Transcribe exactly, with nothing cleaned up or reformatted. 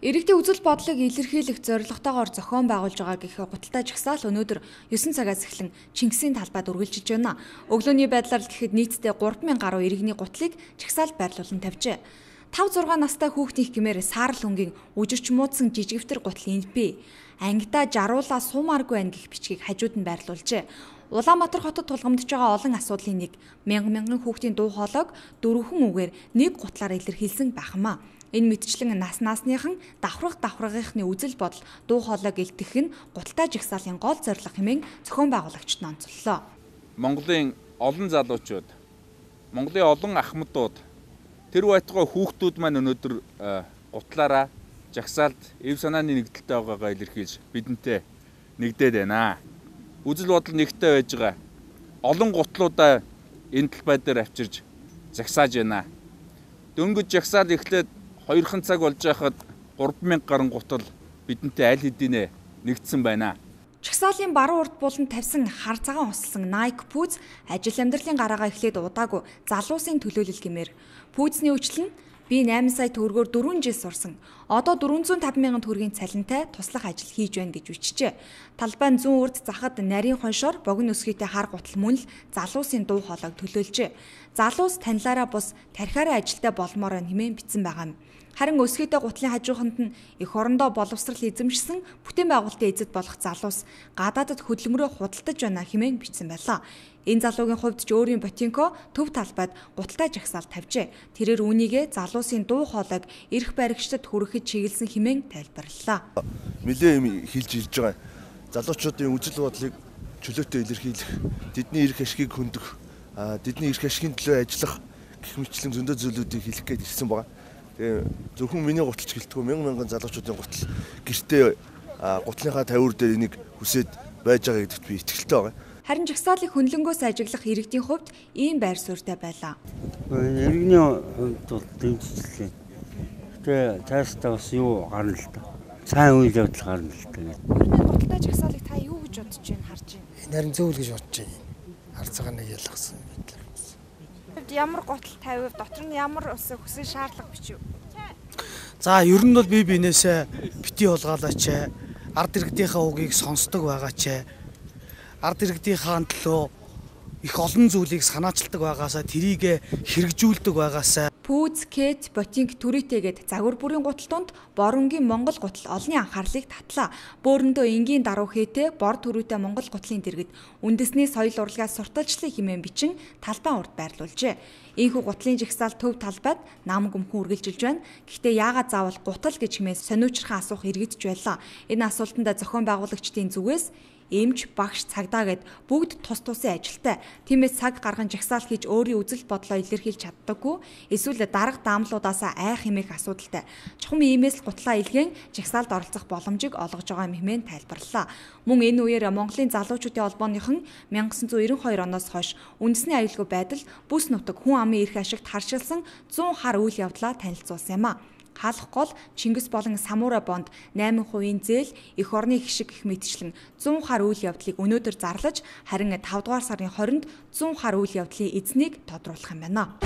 Иргэдийн үзэл бодлыг илэрхийлэх зорилготойгоор зохион байгуулж байгаа гэх гуталтай жагсаал өнөөдөр ёсон цагаас эхлэн Чингисийн талбайд үргэлжилж байна. Өглөөний байдлаар л гэхэд нийтдээ гурван мянган гаруй иргэний гутлыг жагсаалд байрлуулан тавьжээ. тав зургаан настай хүүхдийн гэмээр саарл өнгийн үжирч муудсан жижигвтер гутал энд бий. Ангидаа жаруулаа суумааргүй байна гэх бичгийг хажууд нь байрлуулжээ. Улаанбаатар хотод тулгамдж байгаа олон асуудлын нэг мянган мянган хүүхдийн дуу хоолойг дөрвөн үгээр нэг гутлаар илэрхийлсэн байхмаа. Энэ мэтчлэн нас наасныхан давхрах давхрагийнхны үзэл бодол дуу хоолойг илтгэх нь гуталтай жагсаалын гол зорилго хэмээн зохион байгуулагчид нь онцоллоо. Монголын олон залуучууд, Монголын олон ахмадууд, тэр байтугай хүүхдүүд маань өнөөдөр гутлаараа жагсаалд эв санааны нэгдэлтэй байгаагаа илэрхийлж бидэнтэй нэгдээд байна. Үзэл бодол нэгтэй байж байгаа. Олон гутлуудаа энэ талбай дээр авчирж загсааж байна. Дөнгөж жагсаал эхлээд хоёрхан цаг болж байхад гурван мянга гаруй гутал бидэнтэй аль хэдийнэ нэгдсэн байна. Жагсаалын баруун урд буланд тавьсан хар цагаан усалсан Nike пүүз ажил амьдралын гараагаа эхлээд удаагүй залуусын төлөөлөл гэмээр пүүзний үйлчлэл нь би найман сая төгрөгөөр дөрвөн жил сурсан. Одоо дөрвөн зуун таван мянган төгрөгийн цалинтай туслах ажил хийж байна гэж бичжээ. Талбайн зүүн урд захад нарийн хоншоор богино өсгийтэй хар гутал мөн л залуусын дуу хоолойг төлөөлжээ. Залуус танилаараа бус тархиараа ажилтай болмоор байна хэмээн бичсэн байгаа юм. Харин өсгийтэй гутлын хажууханд нь эх орондоо боловсрал эзэмшсэн бүтээн байгуулалтын эзэд болох залуус гадаадд хөдөлмөрөө худалдаж байна хэмээн бичсэн байлаа. Энэ залуугийн хувьд ч өөрийн ботинко төв талбайд гуталтай жагсаал тавьжээ. Тэрээр үүнийгээ залуусын дуу хоолойг эрх баригчдад хүрэхэд чиглэсэн хэмээн тайлбарллаа. Нилээ юм хэлж ирж байгаа. Залуучуудын үзэл бодлыг чөлөөтэй илэрхийлэх, тэдний эрх ашгийг хөндөх, тэдний эрх ашигын төлөө ажиллах гэх мэтлэн зөндөө зүйлүүдийг хэлэх гээд ирсэн байгаа. Тэгээ зөвхөн миний гуталч гэлтгүй мянган мянган залуучуудын гутал гэртээ гутлынхаа тавиур дээр энийг хүсээд байж байгаа гэдэгт би итгэлтэй байгаа. Харин жагсаалыг хөндлөнгөөс ажиглах иргэдийн хувьд ийм байр суурьтай байлаа. Иргэний хувьд бол дэмжлээ. Тэгээ цаашдаа бас юу гарна л та. Сайн үйл явдал гарна л та. Гуталтай жагсаалыг та юу гэж бодож байна харж байна? Нарийн зөв л гэж бодож байна. Хар цагаан нэг ялгсан мэт. Ямар гутал тавив, дотор нь ямар ус хүсэн шаардлага бичв. За ер нь бол бие биенээсээ бити улгаалаач, ард иргэдийнхээ үгийг сонсдог байгаач, ард иргэдийнхээ төлөө их олон зүйлийг санаачилдаг байгаасаа тэрийг хэрэгжүүлдэг байгаасаа Пүүз, Кет, Ботинк, Түрээтэйгээд загвар бүрийн гутал донд Боронгийн Монгол гутал олонний анхаарлыг татлаа. Бөөрөндөө энгийн даруй хээтэй бор түрүүтэй Монгол гутлын дэргэд үндэсний соёл урлагаас сурталчлалын хэмээн бичин талбай урд байрлуулжээ. Ийхүү гутлын жагсаал төв талбайд нам гүмхэн үргэлжилж байна. Гэхдээ яагаад заавал гутал гэж хэмээн сониучрахаа асуух иргэдж байлаа. Энэ асуултанд зохион байгуулагчдын зүгээс эмч, багш, цагдаа гэд бүгд тус тусын ажилтай. Тиймээс цаг гарган жагсаал хийж өөрийн үзэл бодлоо илэрхийлж чаддаггүй. Эсвэл дарга даамлуудаасаа айх хэмээх асуудалтай. Чухам иймээс л гутлаа илгээн жагсаалд оролцох боломжийг олгож байгаа юм хэмээн тайлбарллаа. Мөн энэ үеэр Монголын залуучуудын холбооныхон мянга тоғыз жүз девяносто хоёр оноос хойш үндэсний аюулгүй байдал бүс нутаг хүн амын эрх ашигт харшилсан зуун хар үйл явдлаа танилцуулсан юм а. Хаалх гол Чингис болон Самура бонд найман хувийн зээл эх орны хишиг гэх мэтчлэн зуун хар үйл явдлыг өнөөдөр зарлаж харин тавдугаар сарын хоринд зуун хар үйл явдлын эзнийг тодруулах юм байна.